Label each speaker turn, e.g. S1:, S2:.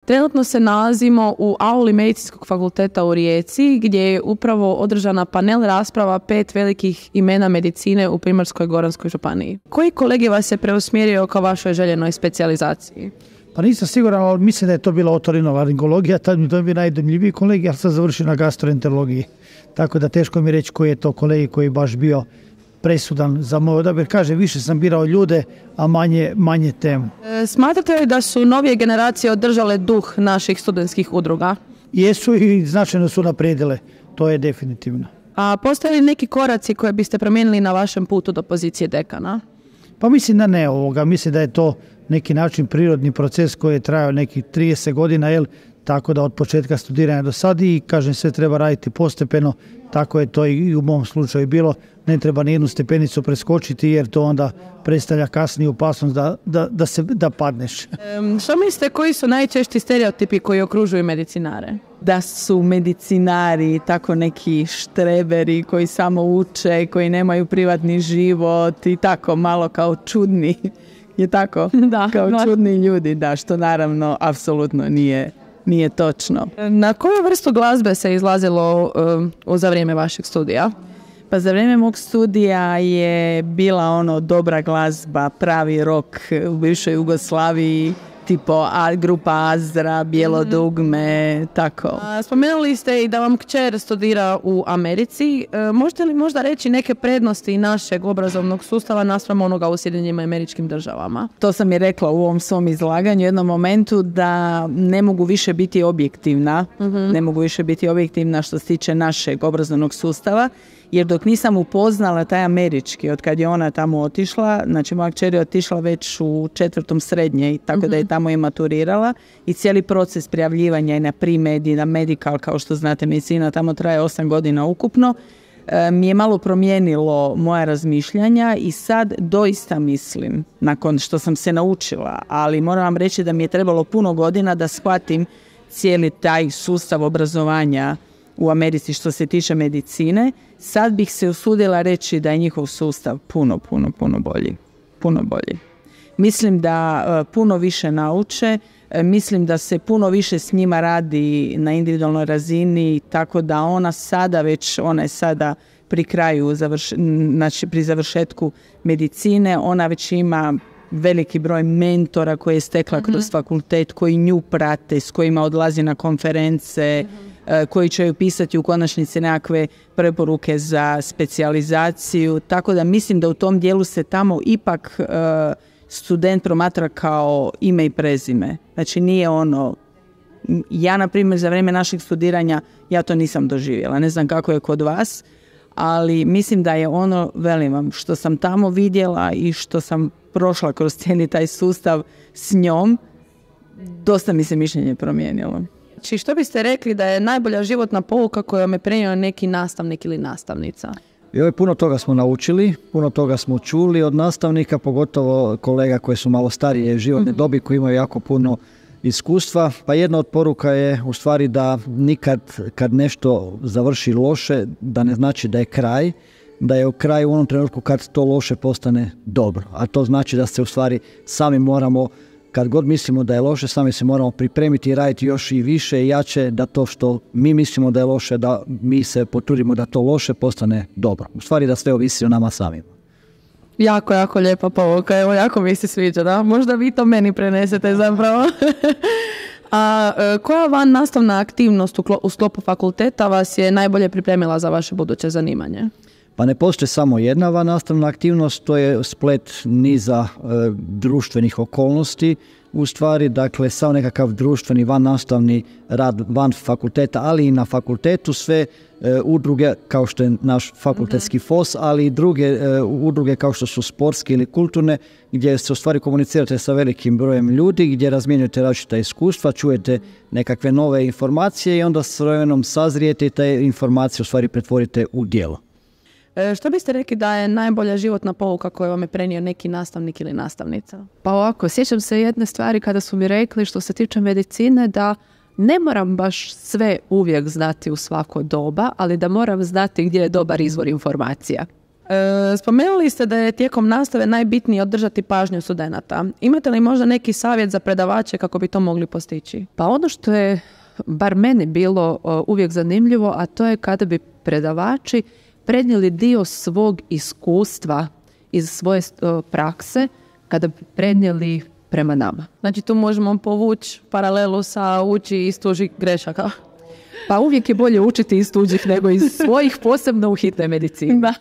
S1: Trenutno se nalazimo u auli Medicinskog fakulteta u Rijeci, gdje je upravo održana panel rasprava 5 velikih imena medicine u Primorsko-goranskoj županiji. Koji kolegi vas je preusmjerio ka vašoj željenoj specijalizaciji?
S2: Pa nisam siguran, ali mislim da je to bila otorinolaringologija, tad mi to bi najdojmljiviji kolegi, ali sam završio na gastroenterologiji. Tako da teško mi reći koji je to kolegi koji je baš bio presudan za moj odabir. Kaže, više sam birao ljude, a manje temu.
S1: Smatrate li da su novije generacije održale duh naših studentskih udruga?
S2: Jesu i značajno su naprijedile, to je definitivno.
S1: A postoje li neki koraci koje biste promijenili na vašem putu do pozicije dekana?
S2: Pa mislim da ne ovoga, mislim da je to neki način prirodni proces koji je trajao nekih 30 godina, tako da od početka studiranja do sad i kažem sve treba raditi postepeno, tako je to i u mom slučaju bilo, ne treba ni jednu stepenicu preskočiti jer to onda predstavlja kasnije opasnost da padneš.
S1: Što mislite, koji su najčešći stereotipi koji okružuju medicinare?
S3: Da su medicinari tako neki štreberi koji samo uče, koji nemaju privatni život i tako malo kao čudni. Je tako?
S1: Da,
S3: kao čudni ljudi, da, što naravno apsolutno nije točno.
S1: Na koju vrstu glazbe se izlazilo za vrijeme vašeg studija?
S3: Pa za vrijeme mog studija je bila dobra glazba, pravi rock u bivšoj Jugoslaviji, tipo grupa Azra, Bijelo dugme, tako.
S1: Spomenuli ste i da vam kćer studira u Americi. Možete li možda reći neke prednosti našeg obrazovnog sustava naspram onoga u Sjedinjenim Američkim Državama?
S3: To sam i rekla u ovom svom izlaganju u jednom momentu da ne mogu više biti objektivna. Ne mogu više biti objektivna što se tiče našeg obrazovnog sustava. Jer dok nisam upoznala taj američki, od kad je ona tamo otišla, znači moja kćer je otišla već u 4. srednje, tako da je tamo i maturirala i cijeli proces prijavljivanja i na pre-med i na medical, kao što znate medicina, tamo traje 8 godina ukupno, mi je malo promijenilo moja razmišljanja i sad doista mislim, nakon što sam se naučila, ali moram vam reći da mi je trebalo puno godina da shvatim cijeli taj sustav obrazovanja u Americi što se tiče medicine, sad bih se usudila reći da je njihov sustav puno bolji. Puno bolji. Mislim da puno više nauče, mislim da se puno više s njima radi na individualnoj razini, tako da ona je sada pri kraju, znači pri završetku medicine, ona već ima veliki broj mentora koje je stekla kroz fakultet, koji nju prate, s kojima odlazi na konference, koji će joj pisati u konačnici nekakve preporuke za specijalizaciju, tako da mislim da u tom dijelu se tamo ipak student promatra kao ime i prezime. Znači nije ja na primjer za vrijeme našeg studiranja ja to nisam doživjela, ne znam kako je kod vas, ali mislim da je velim vam, što sam tamo vidjela i što sam prošla kroz cijeli taj sustav s njom, dosta mi se mišljenje promijenilo.
S1: Znači, što biste rekli da je najbolja životna pouka koju vam je prenio neki nastavnik ili nastavnica?
S4: Puno toga smo naučili, puno toga smo čuli od nastavnika, pogotovo kolega koji su malo starije životne dobi, koji imaju jako puno iskustva. Pa jedna od poruka je u stvari da nikad kad nešto završi loše, da ne znači da je kraj, da je u kraju u onom trenutku kad to loše postane dobro. A to znači da se u stvari sami moramo, kad god mislimo da je loše, sami se moramo pripremiti i raditi još i više i jače da to što mi mislimo da je loše, da mi se potrudimo da to loše postane dobro. U stvari da sve ovisi o nama samima.
S1: Jako lijepa pouka, evo jako mi se sviđa, da? Možda vi to meni prenesete zapravo. A koja van nastavna aktivnost u sklopu fakulteta vas je najbolje pripremila za vaše buduće zanimanje?
S4: Pa ne postoji samo jedna van nastavna aktivnost, to je splet niza društvenih okolnosti, u stvari, dakle, sav nekakav društveni van nastavni rad van fakulteta, ali i na fakultetu sve udruge kao što je naš fakultetski FOS, ali i druge udruge kao što su sportske ili kulturne, gdje se u stvari komunicirate sa velikim brojem ljudi, gdje razmjenjujete različita iskustva, čujete nekakve nove informacije i onda s vremenom sazrijete i te informacije u stvari pretvorite u djelo.
S1: Što biste rekli da je najbolja životna pouka koju vam je prenio neki nastavnik ili nastavnica?
S5: Pa ovako, sjećam se jedne stvari kada su mi rekli što se tiče medicine da ne moram baš sve uvijek znati u svako doba, ali da moram znati gdje je dobar izvor informacija.
S1: Spomenuli ste da je tijekom nastave najbitnije održati pažnju studenata. Imate li možda neki savjet za predavače kako bi to mogli postići?
S5: Pa ono što je bar meni bilo uvijek zanimljivo, a to je kada bi predavači prenijeli dio svog iskustva iz svoje prakse, kada bi prenijeli prema nama.
S1: Znači tu možemo povući paralelu sa uči iz tuđih grešaka.
S5: Pa uvijek je bolje učiti iz tuđih nego iz svojih, posebno u hitnoj medicini.
S1: Da.